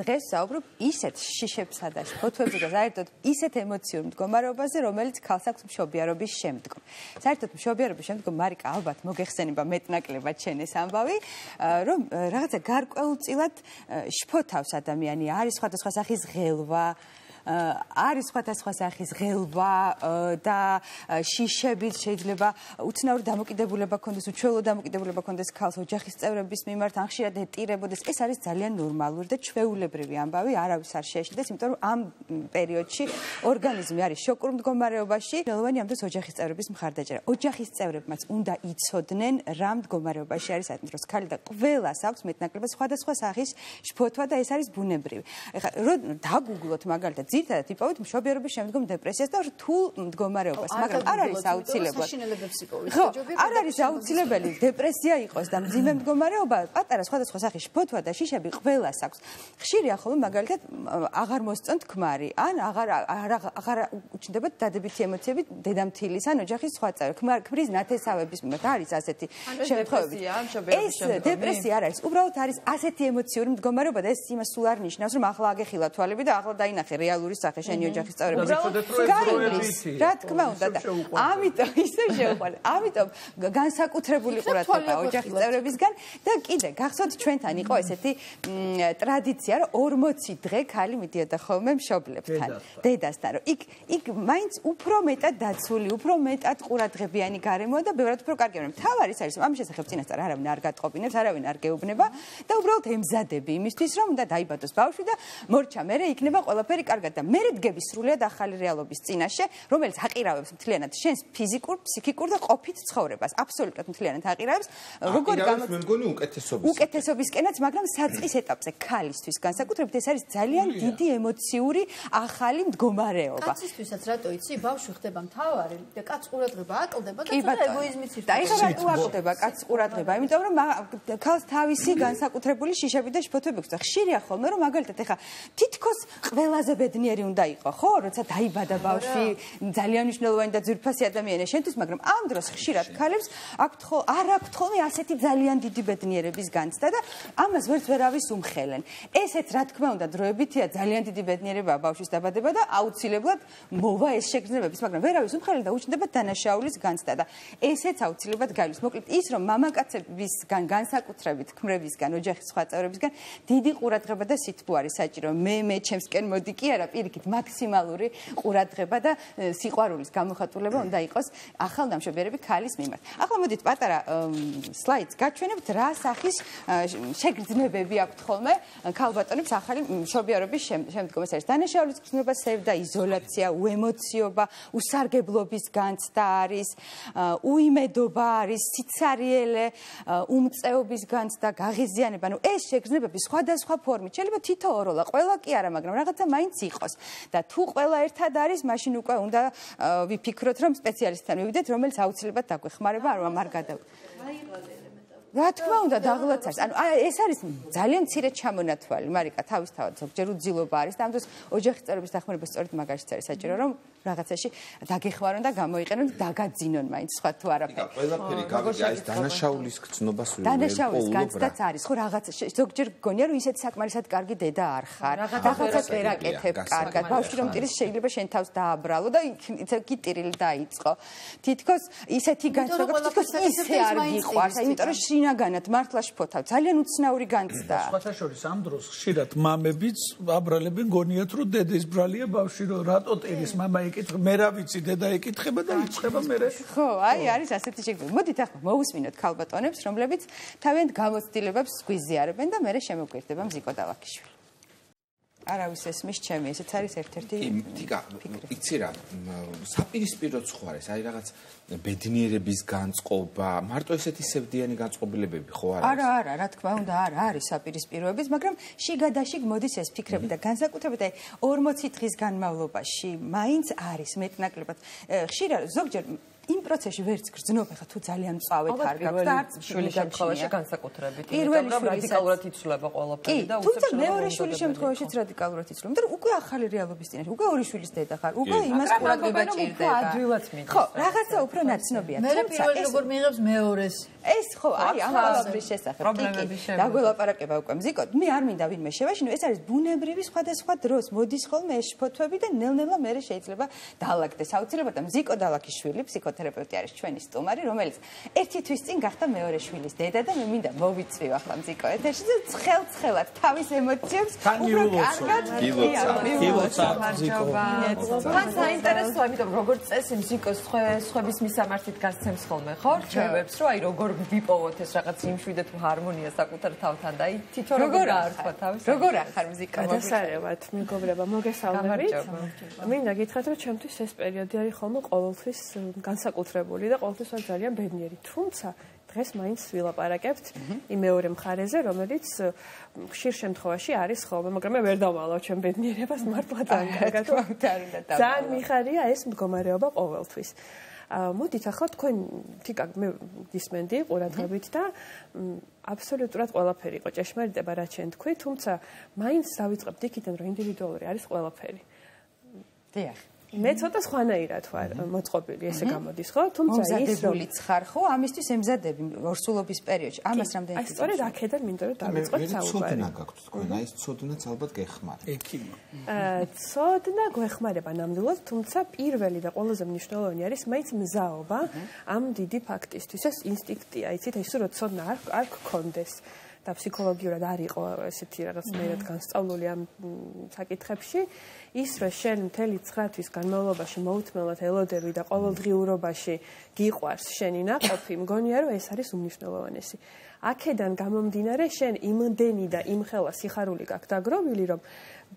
დღეს საუბრობ ისეთ შიშებსა და ფოთოებზე და საერთოდ ისეთ ემოციურ მდგომარეობაზე, რომელიც ქალს აქვს მშობიარობის შემდგომ. საერთოდ მშობიარობის შემდგომ მარიკა ალბათ მოგეხსენება მეტნაკლებად შენ ეს ამბავი, რომ რაღაცა გარკვეულწილად შფოთავს ადამიანი, არის სხვადასხვა სახის ღელვა, არის სხვადასხვა სახის ღელვა და შიშებით შეიძლება უცნაური დამოკიდებულება ქონდეს, უჩვეულო დამოკიდებულება ქონდეს ქალს ოჯახის წევრების მიმართ, ან ხშირად ეტირებოდეს. ეს არის ძალიან ნორმალური და ჩვეულებრივი ამბავი, არავის არ შეეშინდეს, იმიტომ რომ ამ პერიოდში ორგანიზმი არის შოკურ მდგომარეობაში. ხელოვანი ამ დროს ოჯახის წევრების მხარდაჭერა. ოჯახის წევრებმაც უნდა იცოდნენ რა მდგომარეობაში არის ამ დროს ქალი და ყველას აქვს მეტნაკლებად სხვადასხვა სახის შფოთვა და ეს არის ბუნებრივი. ეხლა რომ დაგუგლოთ მაგალითად ძირითადად იპოვეთ მშობიარობის შემდგომ დეპრესიას და რთულ მდგომარეობას, მაგრამ არ არის აუცილებლად. ხო, არ არის აუცილებელი დეპრესია იყოს და მძიმე მდგომარეობა, პატარა სხვადასხვა სახის შფოთვა და შიშები ყველას აქვს. ხშირია ხოლმე მაგალითად აღარ მოსწონთ ქმარი, ან აღარ უჩნდებათ დადებითი ემოციები დედამთილის ან ოჯახის სხვა წევრ. ქმრის ნათესავების მიმართ არის ასეთი შემთხვევები. ეს დეპრესია არ არის, უბრალოდ არის ასეთი ემოციური მდგომარეობა და ეს იმას სულ არ ნიშნავს, რომ ახლა აგეხილა თვალები და ახლა დაინახე რეალური სახე შენი ოჯახის წევრების. რა თქმა უნდა და ამიტომ ისე შეუყვარდა. ამიტომ განსაკუთრებული ყურადღება ოჯახის წევრებისგან და კიდე გახსოვთ ჩვენთან იყო ესეთი ტრადიცია, რომ 40 დღე ქალი მიდიოდა ხოლმე მშობლებთან, დედასთან, რომ იქ მაინც უფრო მეტად დაცული, უფრო მეტად ყურადღებიანი გარემოა და ბევრად უფრო კარგია. მთავარი ის არის, რომ ამ შესახებ წინასწარ არავინ არ გატყობინებს, არავინ არ გეუბნება და უბრალოდ ემზადები იმისთვის, რომ უნდა დაიბადოს ბავშვი და მორჩა მერე იქნება ყველაფერი კარგად და მერე დგები სრულიად ახალი რეალობის წინაშე, რომელიც აყირავებს მთლიანად შენს ფიზიკურ, ფსიქიკურ და ყოფით ცხოვრებას. აბსოლუტურად მთლიანად აყირავებს. როგორ უკეთესობისკენაც, მაგრამ საწყის ეტაპზე ქალისთვის განსაკუთრებით ეს არის ძალიან დიდი ემოციური ახალი მდგომარეობა. კაცისთვისაც რატო იცი, ბავშვი ხდება მთავარი და კაც ყურადღება აკლდება და ცოტა ეგოიზმიც და ეხლა რატო აკლდება კაც ყურადღება? იმიტომ რომ ქალს თავისი განსაკუთრებული შიშები და შფოთვები აქვს და ხშირია ხოლმე რომ მაგალითად ეხლა თითქოს ყველაზე ბედნიერი უნდა იყო, ხო, როცა დაიბადა ბავშვი, ძალიან მნიშვნელოვანი და ძვირფასი ადამიანია შენთვის, მაგრამ ამ დროს ხშირად ქალებს არ აქვთ ხოლმე ასეთი ძალიან დიდი ბედნიერების განცდა და ამას ვერც ვერავის უმხელენ. ესეც რა თქმა უნდა დროებითია ძალიან დიდი ბედნიერებაა ბავშვის დაბადება და აუცილებლად მოვა ეს შეგრძნებების, მაგრამ ვერავის უმხელენ და უჩნდება დანაშაულის განცდა და ესეც აუცილებლად გაივლის. მოკლედ ის რომ მამაკაცებისგან განსაკუთრებით ქმრებისგან, ოჯახის სხვა წევრებისგან დიდი ყურადღება და სითბო არის საჭირო. მე ჩემსკენ მოდი კი არა, პირიქით მაქსიმალური ყურადღება და სიყვარულის გამოხატულება უნდა იყოს ახალდამშობიარები ქალის მიმართ. ახლა მოდით პატარა სლაიდს გაჩვენებთ, რა სახის შეგრძნებები აქვთ ხოლმე ქალბატონებს ახალი მშობიარობის შემდგომ. ეს არის დანაშაულის გრძნობა, სევდა, იზოლაცია, უემოციობა, უსარგებლობის განცდა არის, უიმედობა არის, სიცარიელე, უმწეობის განცდა, გაღიზიანება. ეს შეგრძნებები სხვადასხვა ფორმით შეიძლება თითოეულა, ყველა კი არა, მაგრამ რაღაცა მაინც იყოს. და თუ ყველა ერთად არის, მაშინ უკვე უნდა ვიფიქროთ, რომ სპეციალისტთან მივიდეთ, რომელიც აუცილებლად დაგვეხმარება, რომ არ რა თქმა უნდა დაღლაც არის. ანუ ეს არის ძალიან მცირე ჩამონათვალი, მარიკა, თავისთავად ზოგჯერ უძილობა არის და ამ დროს ოჯახის წევრების დახმარება სწორედ მაგაშიც არის საჭირო, რომ რაღაცაში დაგეხმარონ და გამოიყენონ და დაგაძინონ მაინც სხვა თუ არაფერი. ყველაფერი გავიგე, ეს დანაშაულის გრძნობას დანაშაულის განცდაც არის, ხო რაღაცა ზოგჯერ გონია რომ ისეთ საკმარისად კარგი დედა არ ხარ. რაღაცა ვერ აკეთებ კარგად. ბავშვი რომ ტირის შეიძლება შენ თავს დააბრალო და იქ ტირილი დაიწყო. თითქოს ისეთი განცდა, თითქოს ისე არ გიყვარს, იმიტომ რომ შინაგანად მართლა შფოთავ. ძალიან უცნაური განცდა. სხვათა შორის ამ დროს ხშირად მამებიც აბრალებენ გონიათ რომ დედის ბრალია ბავშვი რომ რატო ტირის მამა მე რა ვიცი დედა ეკითხება და იწყება მე ხო, არის ასეთი შეგრძნება. მოდით ახლა მოусმინოთ ქალბატონებს, რომლებიც თავიანთ გამოცდილებებს გვიზიარებენ და მე შემოგვერდება მზიკო დალაქიშვილი. არავის ესმის ჩემი, ესეც არის ერთ-ერთი თიკა, იცი რა, საპირისპიროც ხო არის, აი რაღაც ბედნიერების განწყობა, მარტო ესეთი სევდიანი განწყობილებები ხო არის? არა, რა თქმა უნდა, არის საპირისპიროებიც, მაგრამ შიგადაშიგ მოდის ეს ფიქრები და განსაკუთრებით აი 40 დღის განმავლობაში მაინც არის მეტნაკლებად. ხშირად ზოგჯერ იმ პროცესში ვერც გრძნობა ხა თუ ძალიან მწავედ არ გაქვს და არც შვილის შემთხვევაში განსაკუთრებით. პირველი რადიკალურად იცვლება ყველაფერი და თუმცა მეორე შვილის შემთხვევაშიც რადიკალურად იცვლება. მაგრამ უკვე ახალი რეალობის წინაშე, უკვე ორი შვილის დედა ხარ, უკვე იმას ყურადღება ჭირდება. ხო, რაღაცა უფრო ნაცნობია. მე პირველი როგორ მიიღებს მეორეს? ეს ხო, არის ამ ყველაფრის შესახებ. დაგველაპარაკება უკვე მზიკოდ. მე არ მინდა ვინმე შევაშინო, ეს არის ბუნებრივი სხვადასხვა დროს მოდის ხოლმე ეს ფოთოები და ნელ-ნელა მე შეიძლება დაალაგდეს. აუცილებლად მზიკო დალაკიშვილი, ფსიქოთერაპევტი არის ჩვენი სტუმარი, რომელიც ერთი თვის წინ გახდა მეორე შვილის დედა და მე მინდა მოვიწვიო ახლა მზიკო ეთერში და ცხელ-ცხელად თავის ემოციებს უფრო კარგად გილოცა მზიკო. თან საინტერესოა, იმიტომ როგორც წესი მზიკოს სხვების მისამართით გასცემს ხოლმე, ხო? რჩევებს, რომ აი როგორ ვიპოვოთ ეს რაღაც იმშვიდე თუ ჰარმონია საკუთარ თავთან და აი თვითონ როგორ გაართვა თავის. როგორ ახარ მზიკა? გადასარევად, მეგობრებო, მოგესალმებით. მინდა გითხრათ, რომ ჩემთვის ეს პერიოდი არის ხოლმე ყოველთვის განსაკუთრებული და ყოველთვის ვარ ძალიან ბედნიერი. თუმცა დღეს მაინც ვილაპარაკებთ იმ მეორე მხარეზე, რომელიც ხშირ შემთხვევაში არის ხოლმე, მაგრამ მე ვერ დავვალავ ჩემ ბედნიერებას მართლა ძალიან კარგად. ძალიან მიხარია ეს მდგომარეობა ყოველთვის. მოდით ახლა თქვენ თიკაკ მე გისმენდი ყურადღებით და აბსოლუტურად ყველაფერი იყო ჭეშმარიტება რაც შენ თქვი, თუმცა მაინც დავიწყებთ იქიდან რომ ინდივიდუალური არის ყველაფერი. დიახ. მე ცოტა სხვანაირად ვარ მოწყობილი, ესე გამოდის, ხო? თუმცა ის რომ მომზადებულიც ხარ, ხო? ამისთვის ემზადები ორსულობის პერიოდში. ამას რამდენი აი სწორედ აქედან მინდა რომ დავიწყოთ საუბარი. ცოდნა გაქვთ თქვენ, აი ეს ცოდნაც ალბათ გეხმარება. ექიმა. ცოდნა გვეხმარება ნამდვილად, თუმცა პირველი და ყველაზე მნიშვნელოვანი არის მაინც მზაობა ამ დიდი ფაქტისთვის. ეს ინსტინქტია, იცით, ის რომ ცოდნა არ გქონდეს. და ფსიქოლოგიურად არ იყო ესეთი რაღაცნაირად განსწავლული ამ საკითხებში ის რომ შენ მთელი 9 თვის განმავლობაში მოუთმელად ელოდები და ყოველდღიურობაში გიყვარს შენი ნაყოფი მგონია რომ ეს არის უმნიშვნელოვანესი აქედან გამომდინარე შენ იმდენი და იმხელა სიხარული გაქვს დაგროვილი რომ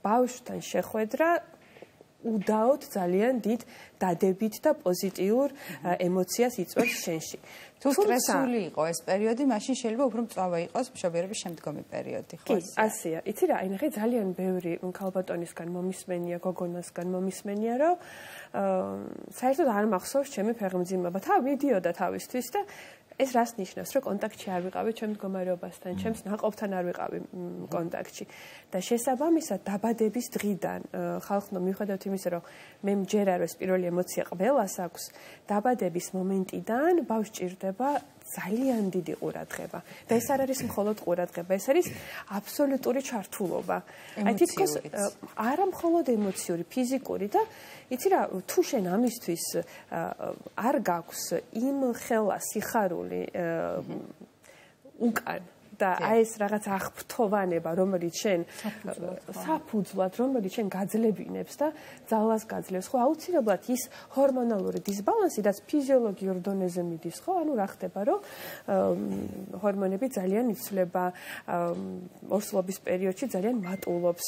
ბავშვთან შეხვედრა უდაოდ ძალიან დიდ დადებით და პოზიტიურ ემოციას იწვევს შენში. თუ სტრესული იყო ეს პერიოდი, მაშინ შეიძლება უფრო მწვავე იყოს მშობიარობის შემდგომი პერიოდი, ხო? კი, ასეა. იცი რა, აი ნახე ძალიან ბევრი ქალბატონისგან მომისმენია, გოგონასგან მომისმენია, რომ საერთოდ არ მახსოვს ჩემი ფეხმძიმება. მიდიოდა თავისთვის და ეს რას ნიშნავს, რომ კონტაქტში არ ვიყავი ჩემ მდგომარეობასთან, ჩემს ნაყოფთან არ ვიყავი კონტაქტში. და შესაბამისად დაბადების დღიდან ხალხო მიუხედავად იმისა, რომ მე მჯერა რომ ეს პირველი ემოცია ყველას აქვს, დაბადების მომენტიდან ბავშვს ჭირდება ძალიან დიდი ყურადღება. და ეს არ არის მხოლოდ ყურადღება, ეს არის აბსოლუტური ჩართულობა. აი თითქოს არა მხოლოდ ემოციური, ფიზიკური და იცი რა, თუ შენ ამისთვის არ გაქვს იმ ხელა სიხარული უკან და აი ეს რაღაც აღფრთოვანება, რომელიც შენ საფუძვლად, რომელიც შენ გაძლებინებს და ძალას გაძლევს, ხო, აუცილებლად ის ჰორმონალური დისბალანსი და ფიზიოლოგიურ დონეზე მიდის, ხო, ანუ რა ხდება, რომ ჰორმონები ძალიან იცვლება, ორსულობის პერიოდში ძალიან მატულობს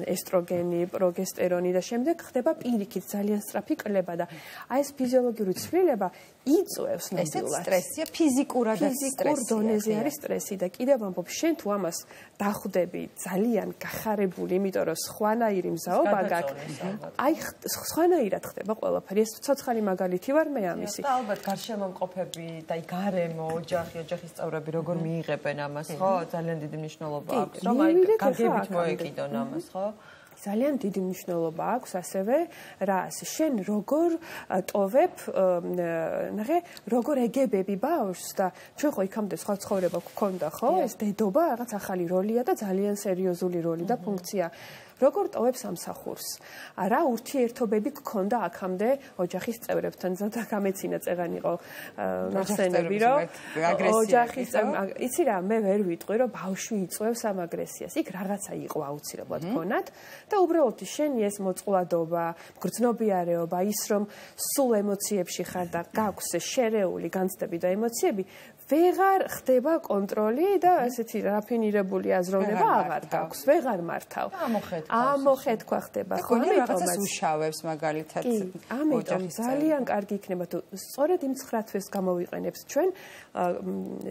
ესტროგენი, პროგესტერონი და შემდეგ ხდება პირიქით ძალიან სწრაფი კლება და აი ეს ფიზიოლოგიური ცვლილება იწვევს ნამდვილად. ეს სტრესია ფიზიკურადაც ფიზიკურ დონეზე არის სტრესი და კიდევ ამბობ შენ თუ ამას დახვდები ძალიან გახარებული, იმიტომ რომ სხვანაირი მზაობა გაქვს. აი სხვანაირად ხდება ყველაფერი. ეს ცოცხალი მაგალითი ვარ მე ამისი. და ალბათ გარშემომყოფები და აი გარემო, ოჯახის წევრები როგორ მიიღებენ ამას, ხო? ძალიან დიდი მნიშვნელობა აქვს, რომ აი გაგებით მოეკიდონ ამას, ხო? ძალიან დიდი მნიშვნელობა აქვს ასევე რას შენ როგორ ტოვებ ნახე როგორ ეგებები ბავშვს და ჩვენ ხო იქამდე სხვა ცხოვრება გქონდა ხო ეს დედობა რაღაც ახალი როლია და ძალიან სერიოზული როლი და ფუნქცია როგორ ტოვებ სამსახურს რა ურთიერთობები გქონდა აქამდე ოჯახის წევრებთან ზოგადად გამეცინა წეგან იყო ნახსენები რომ ოჯახის იცი რა მე ვერ ვიტყვი რომ ბავშვი იწვევს ამ აგრესიას იქ რაღაცა იყო აუცილებლად ქონათ და უბრალოდ შენი ეს მოწყვლადობა გრძნობიარეობა ის რომ სულ ემოციებში ხარ და გაქვს შერეული განცდები და ემოციები ვეღარ ხდება კონტროლი და ესეთი რაფინირებული აზროვნება აღარ გაქვს, ვეღარ მართავ. ამოხეთქვა ხდება, ხო, რაღაცას უშავებს მაგალითად. ამიტომ ძალიან კარგი იქნება თუ სწორედ იმ 9 თვეს გამოვიყენებთ ჩვენ,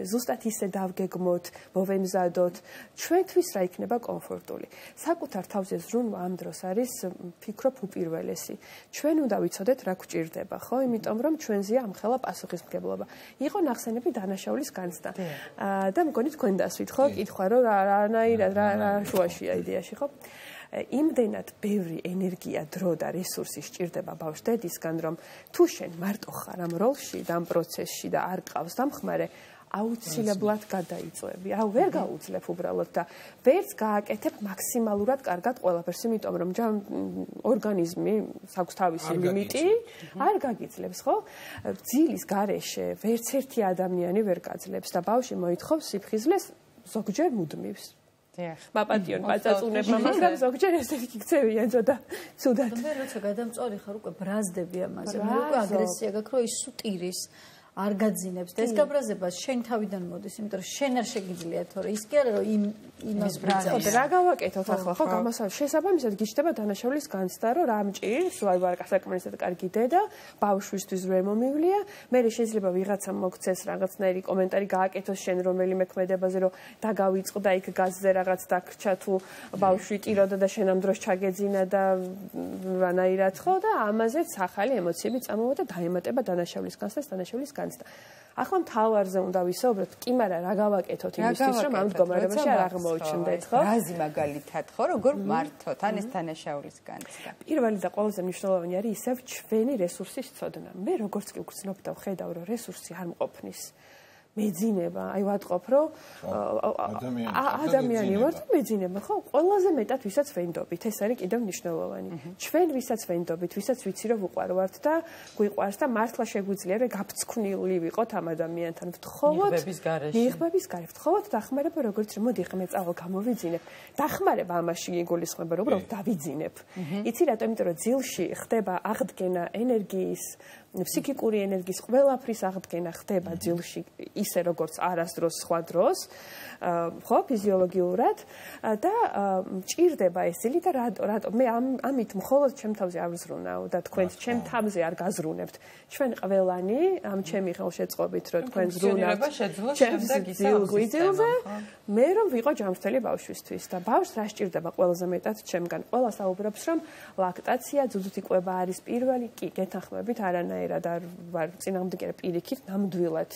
ზუსტად ისე დავგეგმოთ, მოვემზადოთ, ჩვენთვის რა იქნება კომფორტული. საკუთარ თავზე ზრუნვა ამ დროს არის, ფიქრობ, უპირველესი. ჩვენ უნდა ვიცოდეთ რა გვჭირდება, ხო? იმიტომ რომ ჩვენზეა ამხელა პასუხისმგებლობა. იყო ნახსენები დანაშაულის განცდა. და მგონი თქვენ დასვით, ხო? კითხვა რომ რანაირად რა შუაშია იდეაში, ხო? იმდენად ბევრი ენერგია, დრო და რესურსი სჭირდება ბავშვ დედისგან, რომ თუ შენ მარტო ხარ ამ როლში და ამ პროცესში და არ ყავს დამხმარე, აუცილებლად გადაიწვევი. ვერ გაუძლებ უბრალოდ და ვერც გააკეთებ მაქსიმალურად კარგად ყველაფერს, იმიტომ რომ ორგანიზმი აქვს თავისი ლიმიტი, არ გაგიძლებს, ხო? ძილის გარეშე ვერც ერთი ადამიანი ვერ გაძლებს და ბავშვი მოითხოვს სიფხიზლეს ზოგჯერ მუდმივს. მაპატიონ პაწაწუნება, მაგრამ ზოგჯერ ესეთი იქცევიან ცოტა ცუდად. როცა გადამწვარი ხარ, უკვე ბრაზდები ამაზე, მე უკვე აგრესია გაქვს, რომ ის სუტირის არ გაძინებს და ეს გაბრაზება შენ თავიდან მოდის, იმიტომ რომ შენ არ შეგიძლია, თორე ის კი არა რომ იმას ბრაზდება. რა გავაკეთოთ ახლა, ხო, გამოსავალი შესაბამისად გიჩნდება დანაშაულის განცდა, რომ რა მჭირს, ვარ საკმარისად კარგი დედა, ბავშვისთვის ვერ მომივლია, მე შეიძლება ვიღაცამ მოგცეს რაღაცნაირი კომენტარი გააკეთოს შენ რომელიმე ქმედებაზე, რომ დაგავიწყდა იქ გაზზე რაღაც დაგრჩა თუ ბავშვი ტიროდა და შენ ამ დროს ჩაგეძინა და რანაირად, ხო, და ამაზეც ახალი ემოციები წამოვა და დაემატება დანაშაულის განცდას, დანაშაულის ახლა მთავარზე უნდა ვისაუბროთ, კი, მაგრამ რა გავაკეთოთ იმისთვის, რომ ამ მდგომარეობაში არ აღმოჩნდეთ, ხო? რაზი მაგალითად, ხო, როგორ მართოთ ან ეს დანაშაულის განცდა? პირველი და ყველაზე მნიშვნელოვანი არის ისევ ჩვენი რესურსის ცოდნა. მე როგორც კი ვგრძნობ და ვხედავ, რომ რესურსი არ მყოფნის, მეძინება, აი ვატყობ, რომ ადამიანი ვარ და მეძინება, ხო? ყველაზე მეტად ვისაც ვენდობით, ეს არის კიდევ მნიშვნელოვანი. ჩვენ ვისაც ვენდობით, ვისაც ვიცი რომ უყვარვართ და გვიყვარს და მართლა შეგვიძლია რომ გაფცვნილი ვიყოთ ამ ადამიანთან. ვთხოვოთ მიღბების გარეშე. ვთხოვოთ დახმარება, როგორც რომ მოდი ხმე წავალ გამოვიძინებ. დახმარება ამაში იგულისხმება, რომ უბრალოდ დავიძინებ. იცი რატომ? იმიტომ რომ ძილში ხდება აღდგენა ენერგიის ფსიქიკური ენერგიის ყველაფრის აღდგენა ხდება ძილში ისე როგორც არასდროს სხვა დროს, ხო, ფიზიოლოგიურად და მჭირდება ეს ძილი და რატო მე ამით მხოლოდ ჩემ თავზე არ ვზრუნავ და თქვენ ჩემ თავზე არ გაზრუნებთ. ჩვენ ყველანი ამ ჩემი ხელშეწყობით რომ თქვენ ზრუნავთ ჩემს ძილზე, მე რომ ვიყო ჯანმრთელი ბავშვისთვის და ბავშვს რა სჭირდება ყველაზე მეტად ჩემგან. ყველა საუბრობს რომ ლაქტაცია, ძუძუთი კვება არის პირველი, კი, გეთანხმებით არანაირად არ ვარ წინააღმდეგი პირიქით, ნამდვილად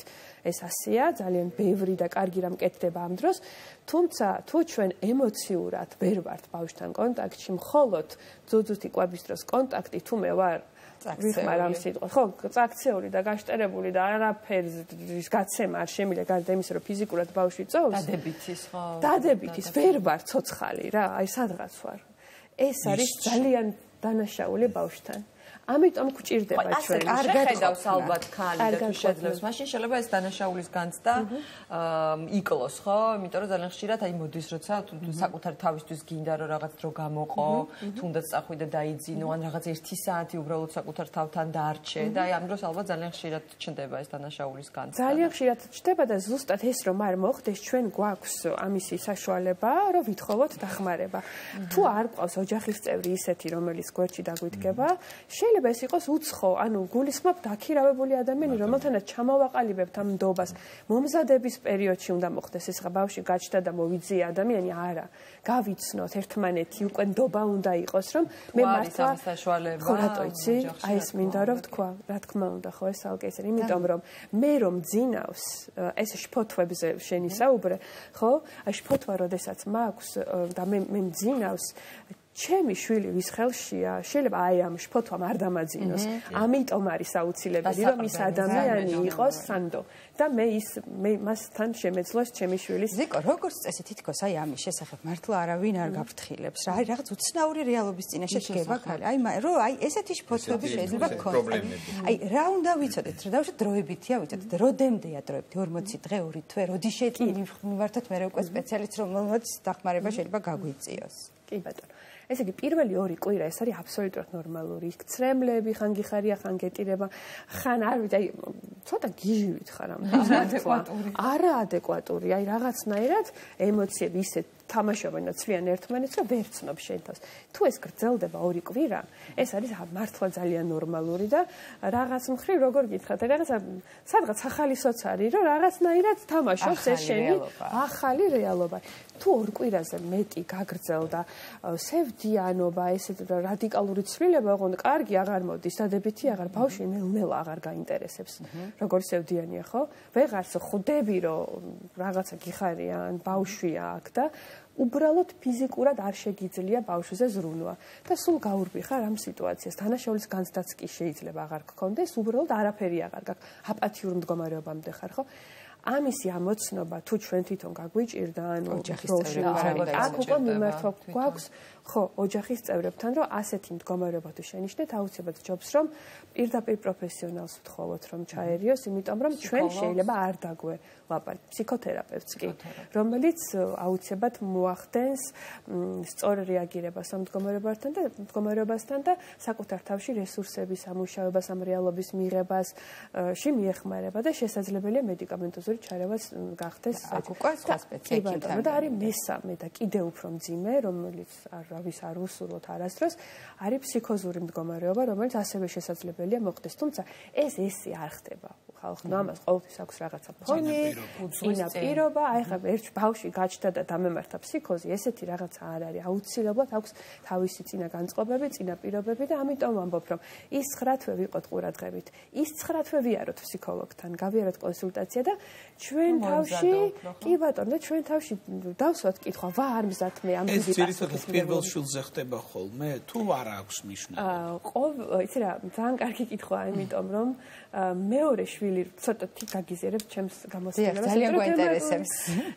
ეს ასეა, ძალიან ბევრი და კარგი რამ კეთდება ამ დროს, თუმცა თუ ჩვენ ემოციურად ვერ ვართ ბავშვთან კონტაქტში, მხოლოდ ძუძუთი კვების დროს კონტაქტი თუ მე ვარ ვიხმარ ამ სიტყვას, ხო, წაქცეული და გაშტერებული და არაფერის გაცემა არ შემიძლია გარდა იმისა, რომ ფიზიკურად ბავშვი წოვს. დადებითის, ხო. დადებითის, ვერ ვარ ცოცხალი რა, აი სადღაც ვარ. ეს არის ძალიან დანაშაული ბავშვთან. ამიტომ გვჭირდება ჩვენ კარგად ხედავს ალბათ ხალი და თუ შეძლებს მაშინ შეიძლება ეს დანაშაულის განცდა იკლოს, ხო? იმიტომ რომ ძალიან ხშირად აი მოდის როცა თუ საკუთარ თავისთვის გინდა რომ რაღაც დრო გამოყო, თუნდაც წახვიდე დაიძინო ან რაღაც 1 საათი უბრალოდ საკუთარ თავთან დაარჩე და აი ამ დროს ალბათ ძალიან ხშირად ჩნდება ეს დანაშაულის განცდა. ძალიან ხშირად ჩნდება და ზუსტად ეს რომ არ მოხდეს, ჩვენ გვაქვს ამისი საშუალება, რომ ვითხოვოთ დახმარება. თუ არ ყავს ოჯახის წევრი ისეთი, რომელიც გვერდში დაგვიდგება, შეიძლება ეს იყოს უცხო, ანუ გულისხმობ დაქირავებული ადამიანი, რომელთანაც ჩამოვაყალიბებთ ამ ნდობას. მომზადების პერიოდში უნდა მოხდეს ეს ბავშვი გაჩნდა და მოვიძია ადამიანი, არა. გავიცნოთ ერთმანეთი, უკვე ნდობა უნდა იყოს, რომ მე მართლა ხო რატო იცი? აი ეს მინდა რომ ვთქვა, რა თქმა უნდა, ხო ეს ალკე ისე, იმიტომ რომ მე რომ ძინავს, ეს შფოთვებზე შენი საუბრე, ხო? აი შფოთვა როდესაც მაქვს და მე მძინავს ჩემი შვილი ვის ხელშია, შეიძლება აი ამ შფოთვამ არ დამაძინოს. ამიტომ არის აუცილებელი, რომ ის ადამიანი იყოს სანდო და მე მასთან შემეძლოს ჩემი შვილის. ზიკო, როგორც წესი თითქოს აი ამის შესახებ მართლა არავინ არ გაფრთხილებს. რა არის რაღაც უცნაური რეალობის წინაშე დგება ხალი. აი ესეთი შფოთვები შეიძლება გქონდეს. აი რა უნდა ვიცოდეთ, რომ დავუშვათ დროებითია ვიცოდეთ, როდემდეა დროებითი 40 დღე, 2 თვე, როდი შეტყვი მივართოთ მე უკვე სპეციალისტს, რომელმაც დახმარება შეიძლება გაგვიწიოს. კი ბატონო. ესე იგი პირველი 2 კვირა ეს არის აბსოლუტურად ნორმალური. ცრემლები ხან გიხარია, ხან გეტირება, ხან არ ვიცი, აი ცოტა გიჟივით ხარ ამ ადეკვატური. არაადეკვატური, აი რაღაცნაირად ემოციები ისე თამაშობენ და ცვლიან ერთმანეთს, რომ ვერ ცნობ შენ თავს. თუ ეს გრძელდება 2 კვირა, ეს არის მართლა ძალიან ნორმალური და რაღაც მხრივ როგორ გითხრათ, რაღაცა სადღაც ახალისოც არის, რომ რაღაცნაირად თამაშობს ეს შენი ახალი რეალობა. თუ 2 კვირაზე მეტი გაგრძელდა სევდიანობა, ესეთ რადიკალური ცვლილება, ოღონდ კარგი აღარ მოდის, დადებითი აღარ, ბავშვი ნელ-ნელა აღარ გაინტერესებს. როგორ სევდიანია, ხო? ვეღარს ხვდები, რომ რაღაცა გიხარია, ან ბავშვია აქ და უბრალოდ ფიზიკურად არ შეგიძლია ბავშვზე ზრუნვა და სულ გაურბიხარ ამ სიტუაციას. დანაშაულის განცდაც კი შეიძლება აღარ გქონდეს, უბრალოდ არაფერი აღარ გაქვს. აპათიურ მდგომარეობამდე ხარ, ხო? ამისი ამოცნობა თუ ჩვენ თვითონ გაგვიჭირდა, ანუ ოჯახის წევრებთან, აქ უკვე მიმართვა გვაქვს, ხო, ოჯახის წევრებთან, რომ ასეთი მდგომარეობა თუ შენიშნეთ, აუცილებლად ჯობს, რომ პირდაპირ პროფესიონალს ვთხოვოთ, რომ ჩაერიოს, იმიტომ რომ ჩვენ შეიძლება არ დაგველაპარაკოთ, ფსიქოთერაპევტს კი, რომელიც აუცილებლად მოახდენს სწორ რეაგირებას ამ მდგომარეობასთან და საკუთარ თავში რესურსების ამუშავებას, ამ რეალობის მიღებას მიეხმარება და შესაძლებელია მედიკამენტოზური ჩარევაც გახდეს. აქ უკვე სხვა სპეციალისტები და არის მესამე და კიდევ უფრო მძიმე, რომელიც ვის არ უსურვოთ არასდროს, არის ფსიქოზური მდგომარეობა, რომელიც ასევე შესაძლებელია მოხდეს, თუმცა ესე არ ხდება. ხალხმა ამას ყოველთვის აქვს რაღაცა ფონი, წინა პირობა, აი ხა ერთ ბავშვი გაჩნდა და დამემართა ფსიქოზი, ესეთი რაღაცა არ არის. აუცილებლად აქვს თავისი წინა განწყობები, წინა პირობები და ამიტომ ვამბობ, რომ ის 9 თვე ვიყოთ ყურადღებით, ის 9 თვე ვიაროთ ფსიქოლოგთან, გავიაროთ კონსულტაცია და ჩვენ თავში, კი ბატონო, და ჩვენ თავში დავსვათ კითხვა, არ მზად მე ამ ეს ძირითადად პირველ შვილზე ხდება ხოლმე, თუ არ აქვს მნიშვნელობა? იცი რა, ძალიან კარგი კითხვაა, იმიტომ რომ მეორე შვილი ცოტა გაგიზიარებ ჩემს გამოცდილებას. ძალიან გვაინტერესებს.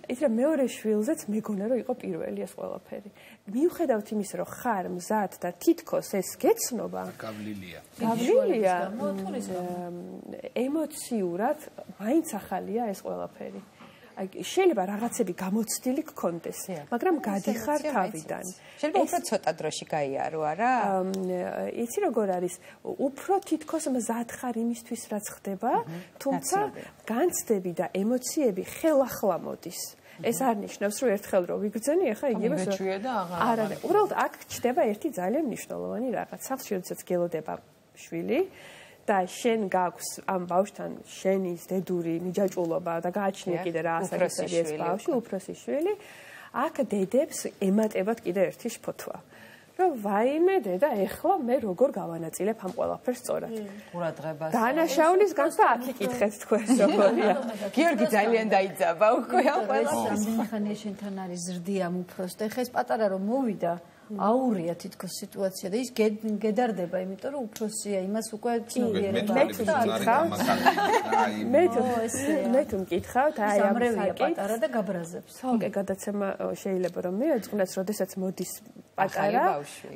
იცი რა, მეორე შვილზეც მეგონა რომ იყო პირველი ეს ყველაფერი. მიუხედავთ იმისა, რომ ხარ მზად და თითქოს ეს გეცნობა, გავლილია. ემოციურად მაინც ახალია ეს ყველაფერი. აი შეიძლება რაღაცები გამოცდილი გქონდეს, მაგრამ გადიხარ თავიდან. შეიძლება უფრო ცოტა დროში გაიარო, არა? იცი როგორ არის, უფრო თითქოს მზად ხარ იმისთვის, რაც ხდება, თუმცა განცდები და ემოციები ხელახლა მოდის. ეს არ ნიშნავს, რომ ერთხელ რო ვიგრძენი, ახლა იგივე არა, უბრალოდ აქ ჩდება ერთი ძალიან მნიშვნელოვანი რაღაც. სახლში როდესაც გელოდება შვილი და შენ გაქვს ამ ბავშვთან შენის დედური მიჯაჭულობა და გააჩნია კიდე რა ასაკისები ეს ბავშვი, უფროსი შვილი, აქ დედებს ემატებათ კიდე ერთი შფოთვა. რომ ვაიმე დედა, ეხლა მე როგორ გავანაწილებ ამ ყველაფერს სწორად. ყურადღებას. დანაშაულის განცდა აქ იკითხეთ თქვენ როგორია. გიორგი ძალიან დაიძაბა უკვე ამ ყველაფერს. სამხანია შენთან არის ზრდი ამ უფროს და ეხა ეს პატარა რომ მოვიდა აურია თითქოს სიტუაცია და ის გედარდება, იმიტომ რომ უფროსია, იმას უკვე მე თუ მკითხავთ, აი ამ სამრევია პატარა და გაბრაზებს. თალკე გადაცემა შეიძლება რომ მიეძღვნეს, როდესაც მოდის პატარა,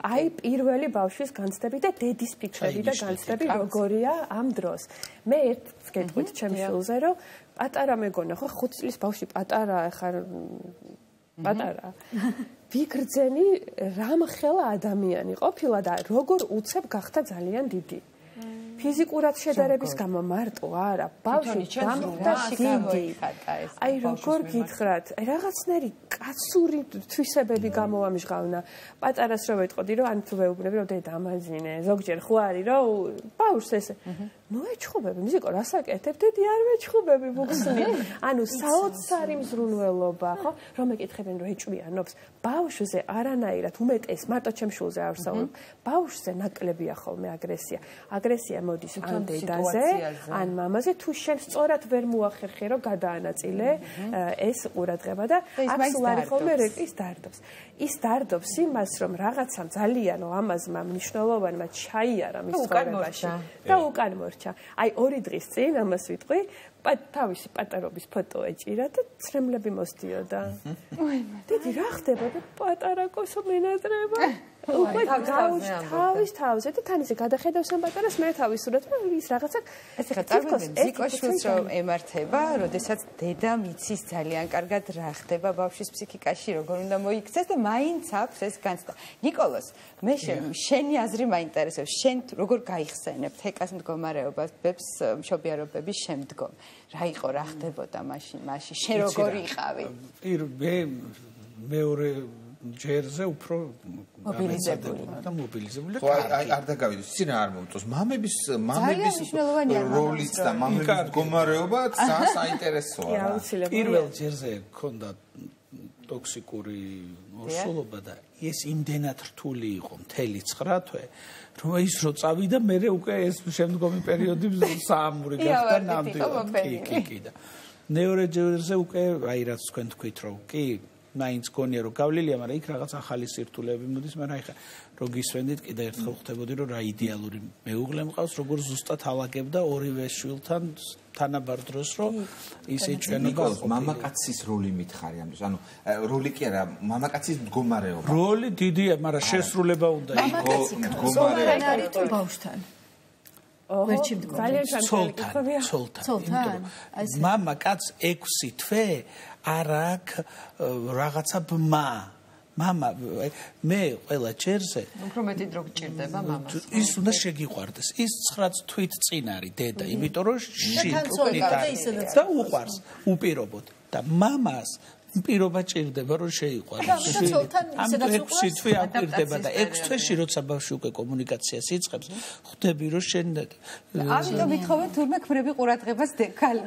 აი პირველი ბავშვის განცდები და დედის ფიქრები და განცდები როგორია ამ დროს. მე ერთს გეტყვით ჩემს შვილზე, რომ პატარა მეგონა, ხო 5 წლის ბავშვი პატარა ხარ პატარა. ვიგრძენი რამხელა ადამიანი ყოფილა და როგორ უცებ გახდა ძალიან დიდი. ფიზიკურად შედარების გამო მარტო არა, ბავშვი დამხდა დიდი. აი როგორ გითხრათ, აი რაღაცნაირი კაცური თვისებები გამოვამჟღავნა. პატარას რო ვეტყოდი, რომ ან თუ ვეუბნები, რომ დედა ამაძინე, ზოგჯერ ხო არის, რომ ბავშვს ესე მოეჩხუბები, მიზიკო რასაკეთებ, დედი არ მეჩხუბები მოგხსნი. ანუ საოცარი მზრუნველობა, ხო? რომ ეკითხებენ, რომ ეჭვიანობს, ბავშვზე არანაირად უმეტეს, მარტო ჩემ შულზე არ ვსაუბრობ, ბავშვზე ნაკლებია ხოლმე აგრესია. აგრესია მოდის ან დედაზე, ან მამაზე, თუ შენ სწორად ვერ მოახერხე, რომ გადაანაწილე ეს ყურადღება და აქ სულ არის ხოლმე ის დარდობს. ის დარდობს იმას, რომ რაღაცამ ძალიან ამაზმა მნიშვნელოვანმა ჩაიარა მის ცხოვრებაში და უკან მორჩა. აი 2 დღის წინ ამას ვიტყვი, თავისი პატარობის ფოტო ეჭირა და ცრემლები მოსდიოდა. დედი რა ხდება და პატარა კოსო მენატრება. უკვე თავის თავზე და თან ისე გადახედავს ამ პატარას მე თავის სურათს და ის რაღაცა ეს ხა წარმოიდგინე ზიკოშვილს რომ ემართება, როდესაც დედა მიცის ძალიან კარგად რა ხდება ბავშვის ფსიქიკაში, როგორ უნდა მოიქცეს და მაინც აქვს ეს განცდა. ნიკოლოს, მე შენი აზრი მაინტერესებს. შენ როგორ გაიხსენებ ჰეკას მდგომარეობებს მშობიარობების შემდგომ? რა იყო, რა ხდებოდა მაშინ? შენ როგორი იყავი? მეორე ჯერზე უფრო მობილიზებული. ხო, არ დაგავიდეს, ისინი არ მომწონს. მამების როლიც და მამების მდგომარეობაც საინტერესოა. პირველ ჯერზე ქონდა ტოქსიკური ორსულობა და ეს იმდენად რთული იყო მთელი 9 თვე, რომ ის რო წავიდა, მე უკვე ეს შემდგომი პერიოდი საამური გახდა ნამდვილად. კი და მეორე ჯერზე უკვე აი რაც თქვენ თქვით რომ კი მაინც გონია რომ გავლილია, მაგრამ იქ რაღაც ახალი სირთულეები მოდის, მაგრამ ეხლა რო გისვენდით, კიდე ერთხელ ხვდებოდი რომ რა იდეალური მეუღლე მყავს, როგორ ზუსტად ალაგებდა ორივე შვილთან თანაბარ დროს, რომ ის ეჭვენება მამაკაცის როლი მითხარი ამ დროს. ანუ როლი კი არა, მამაკაცის მდგომარეობა. როლი დიდია, მაგრამ შესრულება უნდა იყოს მდგომარეობა არის თუ ბავშვთან. ვერჩი მდგომარეობა. ცოლთან. მამაკაც 6 თვე არ აქვს რაღაცა ბმა. მამა მე ყველა ჯერზე უფრო მეტი დრო გჭირდება მამას. ის უნდა შეგიყვარდეს. ის 9 თვით წინ არის დედა, იმიტომ რომ და უყვარს უპირობოდ და მამას პირობა ჭირდება რომ შეიყვაროს. ამიტომ 6 თვე აკვირდება და 6 თვეში როცა ბავშვი უკვე კომუნიკაციას იწყებს, ხვდები რომ შენ ამიტომ ითხოვენ თურმე ქმრები ყურადღებას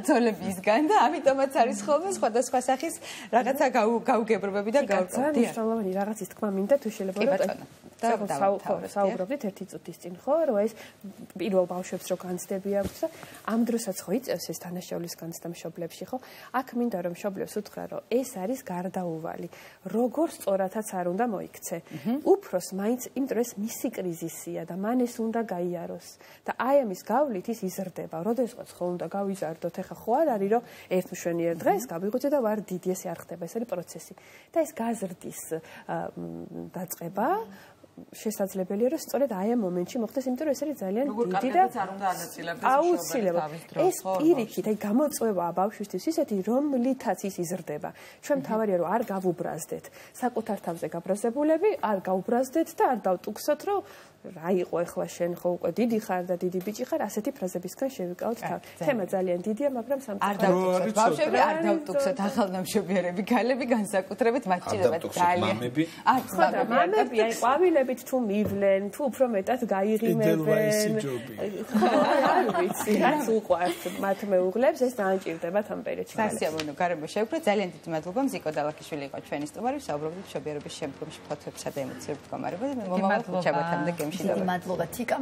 ძოლებისგან და ამიტომაც არის ხოლმე სხვადასხვა სახის რაღაცა გაუგებრობები და გაუწევი. მნიშვნელოვანი რაღაცის თქმა მინდა თუ შეიძლება საუბრობდით ერთი წუთის წინ ხო რომ ეს პირველ ბავშვებს რო განცდები აქვს და ამ დროსაც ხო იწევს ეს თანაშაულის განცდა მშობლებში ხო აქ მინდა რომ მშობლებს უთხრა რომ ეს არის გარდაუვალი როგორ სწორადაც არ უნდა მოიქცე უფროს მაინც იმიტომ რომ ეს მისი კრიზისია და მან ეს უნდა გაიაროს და აი ამის გავლით ის იზრდება როდესაც ხო უნდა გავიზარდოთ ეხა ხო არ არის რომ ერთ მშვენიერ დღეს გავიღვიძე და ვარ დიდი ესე არ ხდება ეს არის პროცესი და ეს გაზრდის დაწყება შესაძლებელია რომ სწორედ აი ამ მომენტში მოხდეს, იმიტომ რომ ეს არის ძალიან დიდი და აუცილებლად. ეს პირიქით, აი გამოწვევა ბავშვისთვის ისეთი, რომლითაც ის იზრდება. ჩვენ თავარია რომ არ გავუბრაზდეთ საკუთარ თავზე გაბრაზებულები, არ გავუბრაზდეთ და არ დავტუქსოთ, რომ რა იყო ახლა შენ ხო უკვე დიდი ხარ და დიდი ბიჭი ხარ, ასეთი ფრაზებისგან შევიკავოთ თავი. თემა ძალიან დიდია, მაგრამ სამწუხაროდ ბავშვები არ დავტუქსოთ ახალნამშობიარები, გალები განსაკუთრებით მათ ჭირდებათ ძალიან. მამები აი ყვავილებით თუ მივლენ, თუ უფრო მეტად გაიღიმებენ. არ ვიცი, რაც უყვართ მათ მეუღლებს, ეს დაანჭირდებათ ამ პერიოდში. სასიამოვნო გარემო შევქრეთ. ძალიან დიდი მადლობა მზიკო დალაქიშვილი იყო ჩვენი სტუმარი, ვსაუბრობდით მშობიარობის შემდგომში ფოთოებსა და ემოციურ მდგომარეობაზე. მომავალ ხუთშაბათამდე გემში. დიდი მადლობა თიკა.